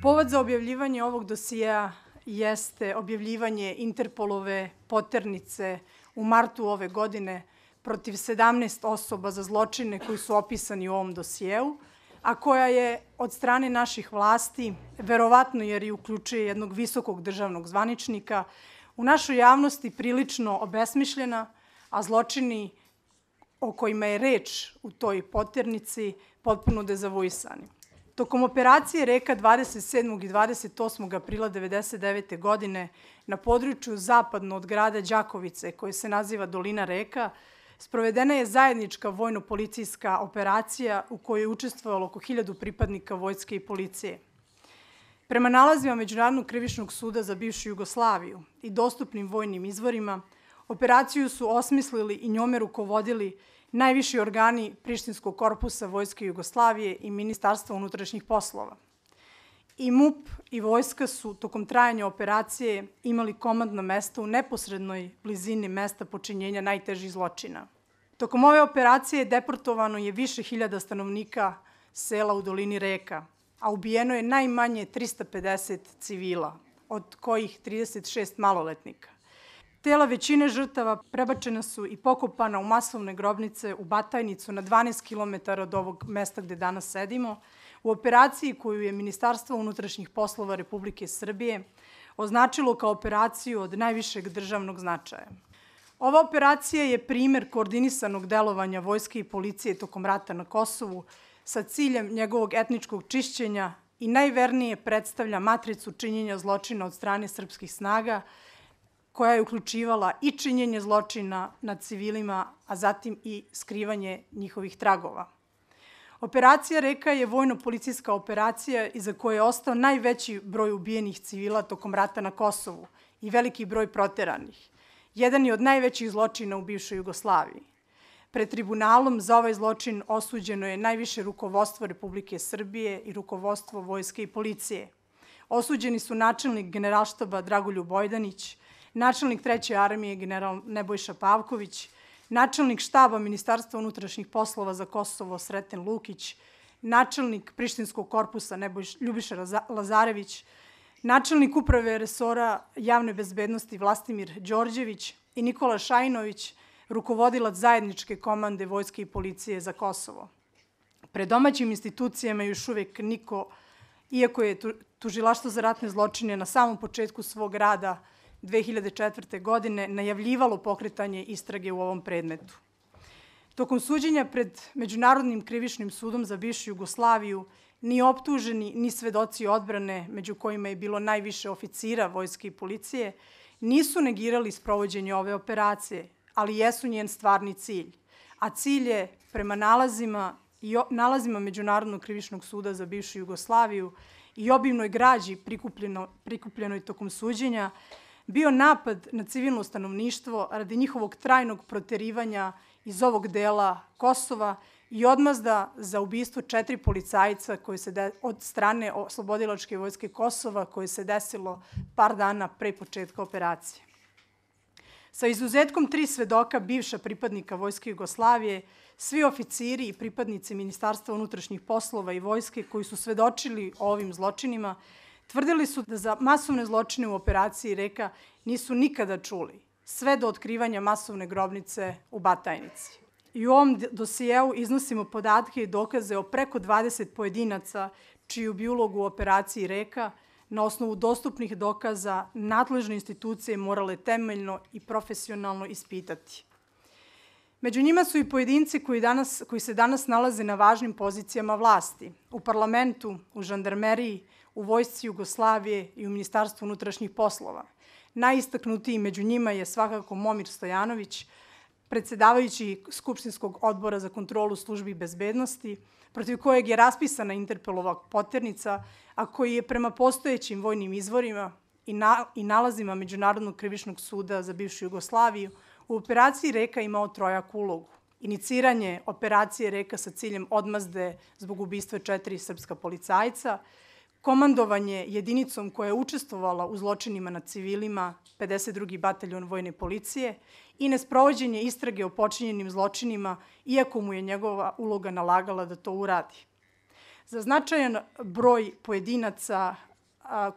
Povod za objavljivanje ovog dosijea jeste objavljivanje Interpolove poternice u martu ove godine protiv 17 osoba za zločine koji su opisani u ovom dosijeu, a koja je od strane naših vlasti, verovatno jer i uključuje jednog visokog državnog zvaničnika, u našoj javnosti prilično obesmišljena, a zločini o kojima je reč u toj poternici potpuno dezavuisani. Tokom operacije Reka 27. i 28. aprila 1999. godine na području zapadno od grada Đakovice, koje se naziva Dolina Reka, sprovedena je zajednička vojno-policijska operacija u kojoj je učestvovalo oko 1000 pripadnika vojske i policije. Prema nalazima Međunarodnog krivičnog suda za bivšu Jugoslaviju i dostupnim vojnim izvorima, operaciju su osmislili i njome rukovodili najviši organi Prištinskog korpusa Vojske Jugoslavije i Ministarstva unutrašnjih poslova. I MUP i vojska su tokom trajanja operacije imali komandno mesto u neposrednoj blizini mesta počinjenja najtežih zločina. Tokom ove operacije deportovano je više hiljada stanovnika sela u Dolini Reka, a ubijeno je najmanje 350 civila, od kojih 36 maloletnika. Tela većine žrtava prebačena su i pokopana u masovne grobnice u Batajnicu na 12 km od ovog mesta gde danas sedimo, u operaciji koju je Ministarstvo unutrašnjih poslova Republike Srbije označilo kao operaciju od najvišeg državnog značaja. Ova operacija je primer koordinisanog delovanja vojske i policije tokom rata na Kosovu sa ciljem njegovog etničkog čišćenja i najvernije predstavlja matricu činjenja zločina od strane srpskih snaga, koja je uključivala i činjenje zločina nad civilima, a zatim i skrivanje njihovih tragova. Operacija Reka je vojno-policijska operacija iza koje je ostao najveći broj ubijenih civila tokom rata na Kosovu i veliki broj proteranih. Jedan je od najvećih zločina u bivšoj Jugoslaviji. Pred tribunalom za ovaj zločin osuđeno je najviše rukovodstvo Republike Srbije i rukovodstvo vojske i policije. Osuđeni su načelnik Generalštaba Dragoljub Bojdanić, načelnik 3. armije general Nebojša Pavković, načelnik štaba Ministarstva unutrašnjih poslova za Kosovo Sreten Lukić, načelnik Prištinskog korpusa Ljubiša Lazarević, načelnik uprave resora javne bezbednosti Vlastimir Đorđević i Nikola Šajinović, rukovodilac zajedničke komande vojske i policije za Kosovo. Pred domaćim institucijama još uvek niko, iako je Tužilaštvo za ratne zločine na samom početku svog rada 2004. godine najavljivalo pokretanje istrage u ovom predmetu. Tokom suđenja pred Međunarodnim krivičnim sudom za bivšu Jugoslaviju ni optuženi, ni svedoci odbrane, među kojima je bilo najviše oficira vojske i policije, nisu negirali sprovođenje ove operacije, ali jesu njen stvarni cilj. A cilj je, prema nalazima Međunarodnog krivičnog suda za bivšu Jugoslaviju i obimnoj građi prikupljenoj tokom suđenja, bio napad na civilno stanovništvo radi njihovog trajnog proterivanja iz ovog dela Kosova i odmazda za ubistvo 4 policajca od strane Oslobodilačke vojske Kosova koje se desilo par dana pre početka operacije. Sa izuzetkom 3 svedoka bivša pripadnika Vojske Jugoslavije, svi oficiri i pripadnici Ministarstva unutrašnjih poslova i vojske koji su svedočili o ovim zločinima, tvrdili su da za masovne zločine u operaciji Reka nisu nikada čuli, sve do otkrivanja masovne grobnice u Batajnici. I u ovom dosijeu iznosimo podatke i dokaze o preko 20 pojedinaca čiju bi ulogu u operaciji Reka na osnovu dostupnih dokaza nadležne institucije morale temeljno i profesionalno ispitati. Među njima su i pojedinci koji se danas nalaze na važnim pozicijama vlasti, u parlamentu, u žandarmeriji, u Vojsci Jugoslavije i u Ministarstvu unutrašnjih poslova. Najistaknutiji među njima je svakako Momir Stojanović, predsedavajući Skupštinskog odbora za kontrolu službi bezbednosti, protiv kojeg je raspisana Interpolova poternica, a koji je prema postojećim vojnim izvorima i nalazima Međunarodnog krivičnog suda za bivšu Jugoslaviju u operaciji Reka imao trojaku ulogu. Iniciranje operacije Reka sa ciljem odmazde zbog ubistva 4 srpska policajca, komandovanje jedinicom koja je učestvovala u zločinima nad civilima, 52. bataljon vojne policije, i nesprovođenje istrage o počinjenim zločinima, iako mu je njegova uloga nalagala da to uradi. Za značajan broj pojedinaca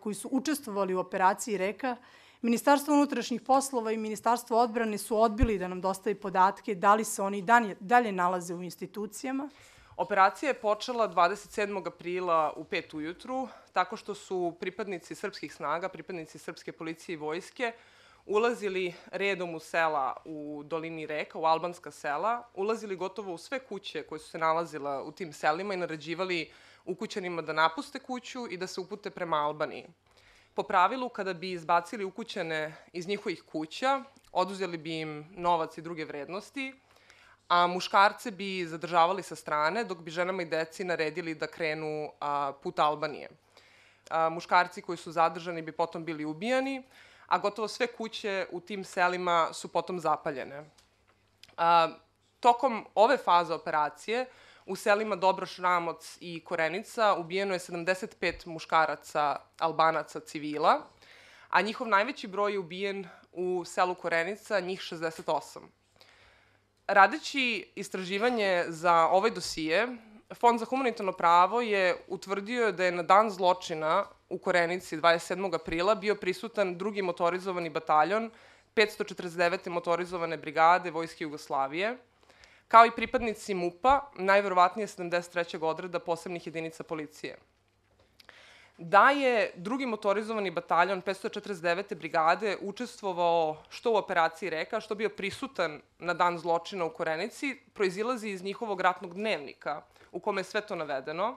koji su učestvovali u operaciji Reka, Ministarstvo unutrašnjih poslova i Ministarstvo odbrane su odbili da nam dostavi podatke da li se oni dalje nalaze u institucijama. Operacija je počela 27. aprila u 5 ujutru, tako što su pripadnici srpskih snaga, pripadnici srpske policije i vojske, ulazili redom u sela u dolini Reka, u albanska sela, ulazili gotovo u sve kuće koje su se nalazile u tim selima i naređivali ukućanima da napuste kuću i da se upute prema Albaniji. Po pravilu, kada bi izbacili ukućane iz njihovih kuća, oduzeli bi im novac i druge vrednosti, a muškarce bi zadržavali sa strane, dok bi ženama i deci naredili da krenu put Albanije. Muškarci koji su zadržani bi potom bili ubijani, a gotovo sve kuće u tim selima su potom zapaljene. Tokom ove faze operacije u selima Dobroš, Ramoc i Korenica ubijeno je 75 muškaraca, Albanaca, civila, a njihov najveći broj je ubijen u selu Korenica, njih 68. Radeći istraživanje za ovaj dosije, Fond za humanitarno pravo je utvrdio da je na dan zločina u Korenici 27. aprila bio prisutan drugi motorizovani bataljon 549. motorizovane brigade Vojske Jugoslavije, kao i pripadnici MUP-a, najverovatnije 73. odreda posebnih jedinica policije. Da je drugi motorizovani bataljon 549. brigade učestvovao što u operaciji Reka, što bio prisutan na dan zločina u Korenici, proizilazi iz njihovog ratnog dnevnika, u kome je sve to navedeno,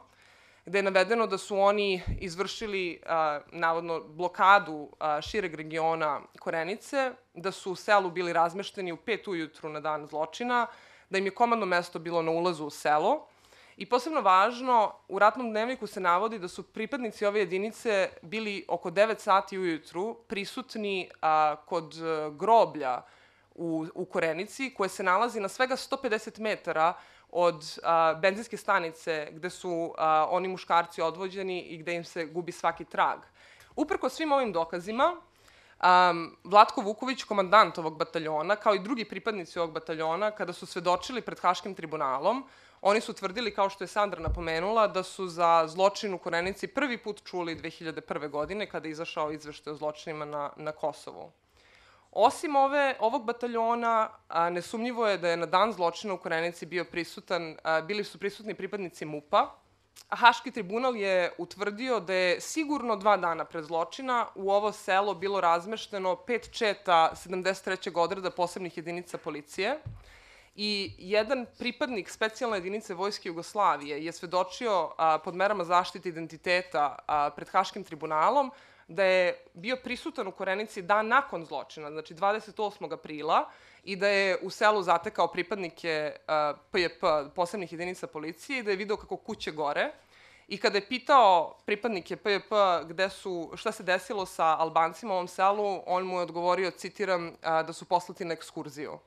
gde je navedeno da su oni izvršili, navodno, blokadu šireg regiona Korenice, da su u selu bili razmešteni u 5 ujutru na dan zločina, da im je komandno mesto bilo na ulazu u selo. I posebno važno, u ratnom dnevniku se navodi da su pripadnici ove jedinice bili oko 9 sati ujutru prisutni kod groblja u Korenici, koje se nalazi na svega 150 metara od benzinske stanice gde su oni muškarci odvođeni i gde im se gubi svaki trag. Uprko svim ovim dokazima, Vlatko Vuković, komandant ovog bataljona, kao i drugi pripadnici ovog bataljona, kada su svedočili pred Haškim tribunalom, oni su tvrdili, kao što je Sandra napomenula, da su za zločin u Korenici prvi put čuli 2001. godine, kada je izašao izveštaj o zločinima na Kosovu. Osim ovog bataljona, nesumnjivo je da je na dan zločina u Korenici bili su prisutni pripadnici MUP-a, a Haški tribunal je utvrdio da je sigurno 2 dana pred zločina u ovo selo bilo razmešteno 5 četa 73. odreda posebnih jedinica policije i jedan pripadnik specijalne jedinice Vojske Jugoslavije je svedočio pod merama zaštite identiteta pred Haškim tribunalom da je bio prisutan u Korenici dan nakon zločina, znači 28. aprila, i da je u selu zatekao pripadnike PJP, posebnih jedinica policije, i da je video kako kuće gore. I kada je pitao pripadnike PJP šta se desilo sa Albancima u ovom selu, on mu je odgovorio, citiram, da su poslati na ekskurziju.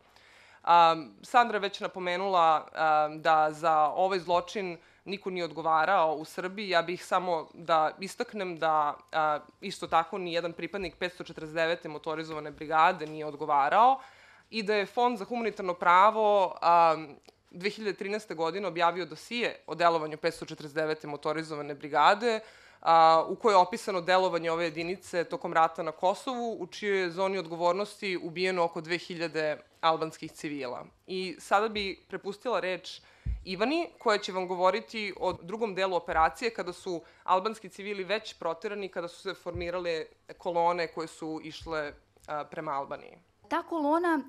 Sandra je već napomenula da za ovaj zločin niko nije odgovarao u Srbiji. Ja bih samo da istaknem da isto tako ni jedan pripadnik 549. motorizovane brigade nije odgovarao i da je Fond za humanitarno pravo 2013. godine objavio dosije o delovanju 549. motorizovane brigade, u kojoj je opisano delovanje ove jedinice tokom rata na Kosovu, u čijoj je zoni odgovornosti ubijeno oko 2000 albanskih civila. I sada bi prepustila reč Ivani, koja će vam govoriti o drugom delu operacije, kada su albanski civili već proterani, kada su se formirale kolone koje su išle prema Albaniji. Ta kolona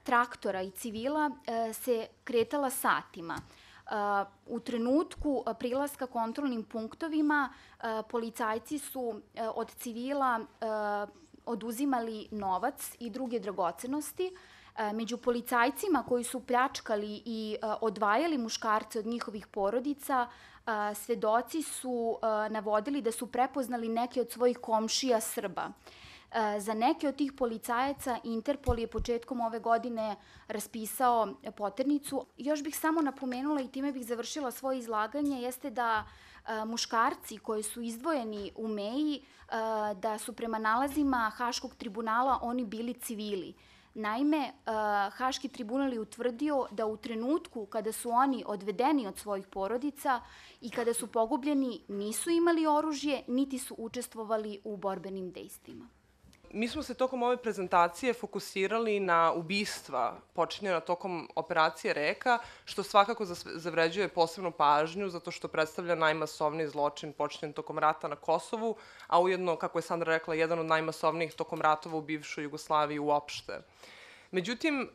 traktora i civila se kretala satima. U trenutku prilaska kontrolnim punktovima policajci su od civila oduzimali novac i druge dragocenosti. Među policajcima koji su pljačkali i odvajali muškarce od njihovih porodica, svedoci su navodili da su prepoznali neke od svojih komšija Srba. Za neke od tih policajaca Interpol je početkom ove godine raspisao poternicu. Još bih samo napomenula i time bih završila svoje izlaganje, jeste da muškarci koji su izdvojeni u Meji, da su prema nalazima Haškog tribunala oni bili civili. Naime, Haški tribunal je utvrdio da u trenutku kada su oni odvedeni od svojih porodica i kada su pogubljeni nisu imali oružje, niti su učestvovali u borbenim dejstvima. Mi smo se tokom ove prezentacije fokusirali na ubistva počinjena tokom operacije Reka, što svakako zavređuje posebnu pažnju, zato što predstavlja najmasovniji zločin počinjen tokom rata na Kosovu, a ujedno, kako je Sandra rekla, jedan od najmasovnijih tokom ratova u bivšoj Jugoslaviji uopšte. Međutim,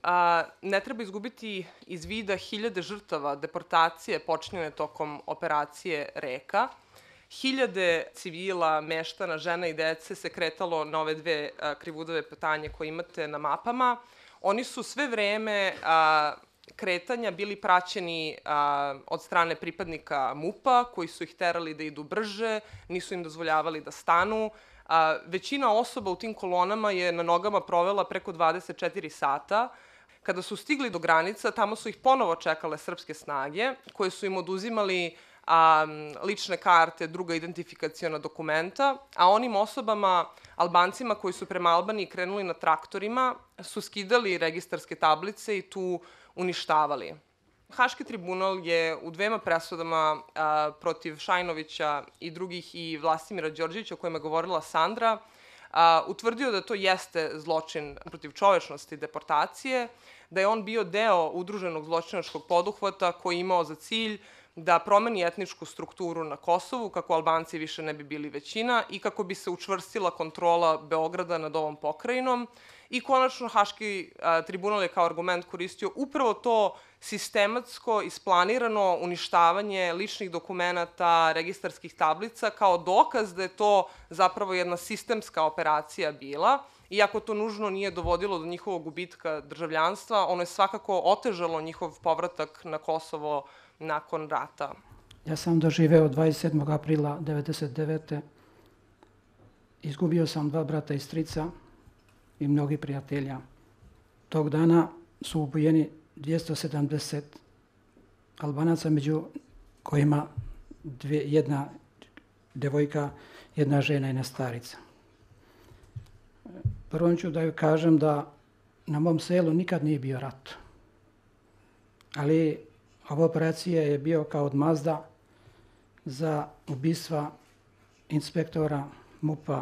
ne treba izgubiti iz vida hiljade žrtava deportacije počinjene tokom operacije Reka. Hiljade civila, meštana, žena i dece se kretalo na ove dve krivudove putanje koje imate na mapama. Oni su sve vreme kretanja bili praćeni od strane pripadnika MUP-a, koji su ih terali da idu brže, nisu im dozvoljavali da stanu. Većina osoba u tim kolonama je na nogama provela preko 24 sata. Kada su stigli do granica, tamo su ih ponovo čekale srpske snage, koje su im oduzimali lične karte, druga identifikaciona dokumenta, a onim osobama, Albancima koji su prema Albaniji krenuli na traktorima, su skidali registarske tablice i tu uništavali. Haški tribunal je u dvema presudama protiv Šajnovića i drugih i Vlastimira Đorđevića, o kojima je govorila Sandra, utvrdio da to jeste zločin protiv čovečnosti, deportacije, da je on bio deo udruženog zločinačkog poduhvata koji je imao za cilj da promeni etničku strukturu na Kosovu, kako Albanci više ne bi bili većina i kako bi se učvrstila kontrola Beograda nad ovom pokrajinom. I konačno, Haški tribunal je kao argument koristio upravo to sistematsko, isplanirano uništavanje ličnih dokumenata, registarskih tablica, kao dokaz da je to zapravo jedna sistemska operacija bila. Iako to nužno nije dovodilo do njihovog gubitka državljanstva, ono je svakako otežalo njihov povratak na Kosovo nakon rata. Ja sam doživeo 27. aprila 1999. Izgubio sam 2 brata i strica i mnogi prijatelja. Tog dana su ubijeni 270 Albanaca, među kojima jedna devojka, jedna žena i jedna starica. Prvo ću da joj kažem da na mom selu nikad nije bio rat. Ali ova operacija je bio kao odmazda za ubistva inspektora MUP-a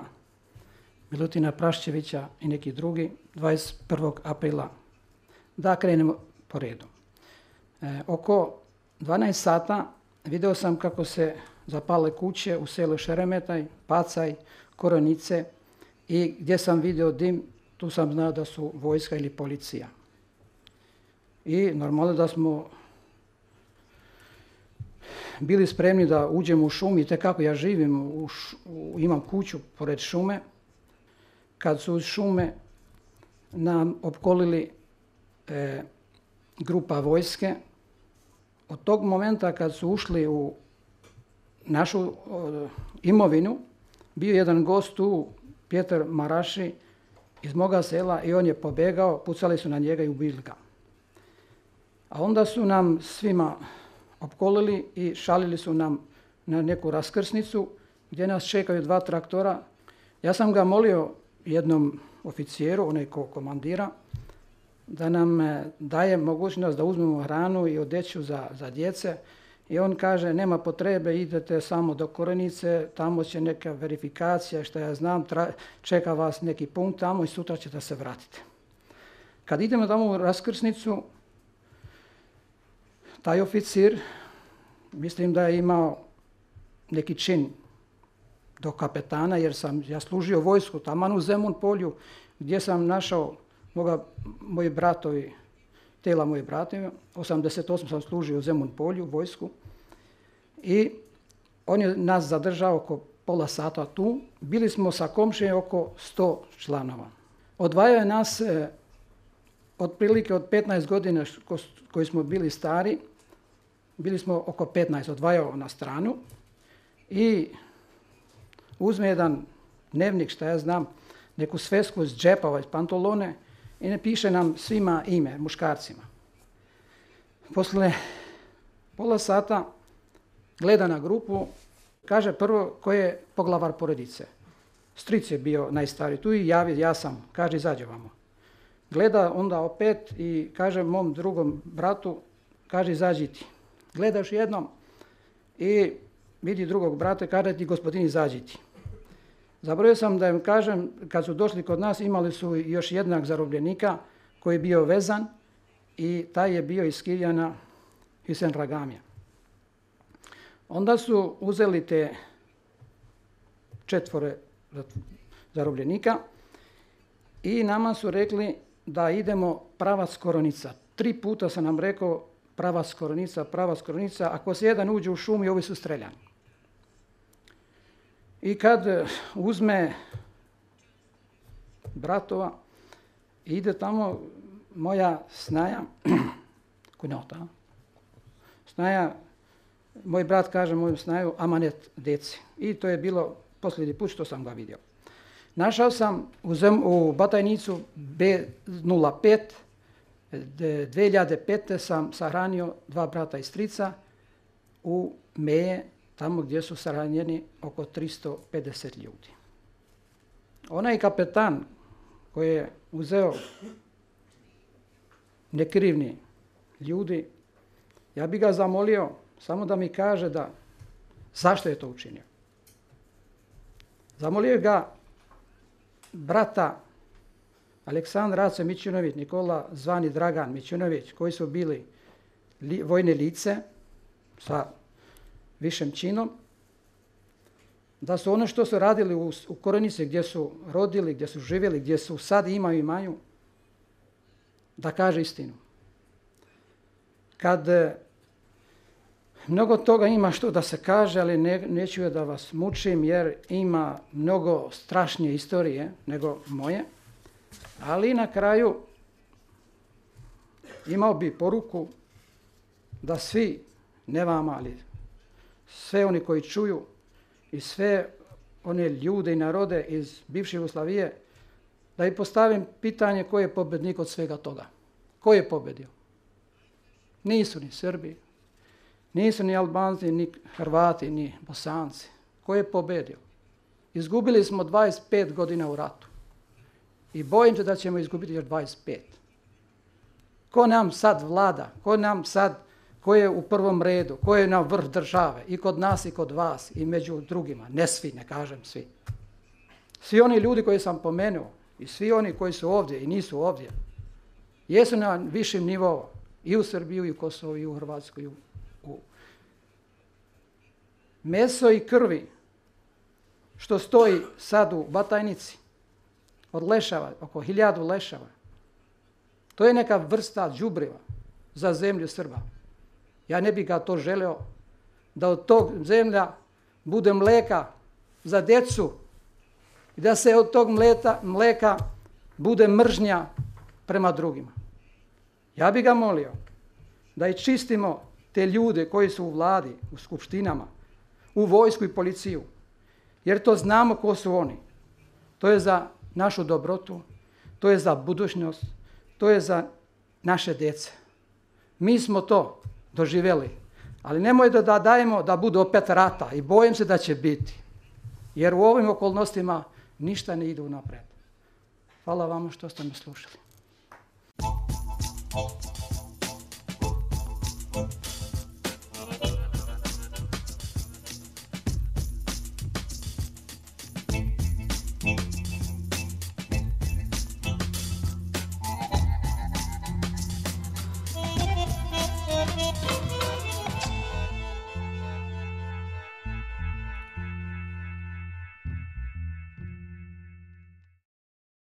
Milutina Praščevića i neki drugi 21. aprila. Da krenemo po redu. Oko 12 sata video sam kako se zapale kuće u selu Šeremetaj, Pacaj, Koronice i gdje sam video dim, tu sam znao da su vojska ili policija. I normalno da smo bili spremni da uđemo u šumu i tekako ja živim, imam kuću pored šume. Kad su iz šume nam opkolili grupa vojske, od tog momenta kad su ušli u našu imovinu, bio jedan gost tu, Pjetar Maraši, iz moga sela i on je pobegao, pucali su na njega i ubili ga. A onda su nam svima opkolili i šalili su nam na neku raskrsnicu gdje nas čekaju 2 traktora. Ja sam ga molio jednom oficijeru, onaj ko komandira, da nam daje mogućnost da uzmemo hranu i odeću za djece. I on kaže, nema potrebe, idete samo do Korenice, tamo će neka verifikacija, što ja znam, čeka vas neki punkt tamo i sutra ćete se vratiti. Kad idemo tamo u raskrsnicu, taj oficir, mislim da je imao neki čin do kapetana, jer sam ja služio vojsku taman u Zemun polju, gdje sam našao moji bratovi, tela moji bratovi. 88 sam služio u Zemun polju, vojsku. I on je nas zadržao oko pola sata tu. Bili smo sa komšijom oko 100 članova. Odvajao je nas otprilike od 15 godina koji smo bili stari. Bili smo oko 15, odvajao na stranu. I uzme jedan dnevnik, šta ja znam, neku svesku iz džepova, iz pantolone i ne piše nam svima ime, muškarcima. Posle pola sata gleda na grupu, kaže prvo ko je poglavar porodice. Stric je bio najstariji tu i javi, ja sam, kaže izađe vamo. gleda onda opet i kaže mom drugom bratu, kaže izađi ti. Gledaš jednom i vidi drugog brata, kaže ti gospodin izađi ti. Zaboravio sam da im kažem, kad su došli kod nas imali su još jednog zarobljenika koji je bio vezan i taj je bio iz Kirjana Hüseyin Ragamija. Onda su uzeli te 4 zarobljenika i nama su rekli da idemo pravac Koronica. 3 puta sam nam rekao pravac Koronica, ako se jedan uđe u šumu i ovi su streljani. I kad uzme bratova, ide tamo moja snaja, kunjota, snaja, moj brat kaže moju snaju, amanet deci. I to je bilo posljednji put što sam ga vidio. Našao sam u Batajnicu B05, 2005. sam sahranio 2 brata i strica u Meje, tamo gdje su sahranjeni oko 350 ljudi. Onaj kapetan koji je uzeo nekrivni ljudi, ja bi ga zamolio samo da mi kaže da zašto je to učinio. Zamolio ga brata Aleksandra Ace Mićunović, Nikola zvani Dragan Mićunović, koji su bili vojne lice sa višem činom, da su ono što su radili u Koronici, gdje su rodili, gdje su živjeli, gdje su sad imaju, da kaže istinu. Kad mnogo toga ima što da se kaže, ali neću da vas mučim jer ima mnogo strašnije istorije nego moje, ali na kraju imao bi poruku da svi, ne vama, ali sve oni koji čuju i sve one ljude i narode iz bivše Jugoslavije, da im postavim pitanje ko je pobednik od svega toga. Ko je pobedio? Nisu ni Srbi, nisu ni Albanci, ni Hrvati, ni Bosanci. Ko je pobedio? Izgubili smo 25 godina u ratu. I bojim se da ćemo izgubiti još 25. Ko nam sad vlada? Ko je u prvom redu? Ko je na vrh države? I kod nas i kod vas i među drugima. Ne svi, ne kažem svi. Svi oni ljudi koji sam pomenuo i svi oni koji su ovdje i nisu ovdje, jesu na višem nivou i u Srbiji, i u Kosovu, i u Hrvatskoj. Meso i krvi što stoji sad u Batajnici od leševa, oko 1000 leševa, to je neka vrsta đubriva za zemlju Srba. Ja ne bih ga to želeo da od tog zemlja bude mleka za djecu i da se od tog mleka bude mržnja prema drugima. Ja bih ga molio da i čistimo te ljude koji su u vladi, u skupštinama, u vojsku i policiju, jer to znamo ko su oni. To je za našu dobrotu, to je za budućnost, to je za naše djece. Mi smo to doživjeli, ali nemojte da dajemo da bude opet rata i bojim se da će biti, jer u ovim okolnostima ništa ne ide unapred. Hvala vama što ste me slušali.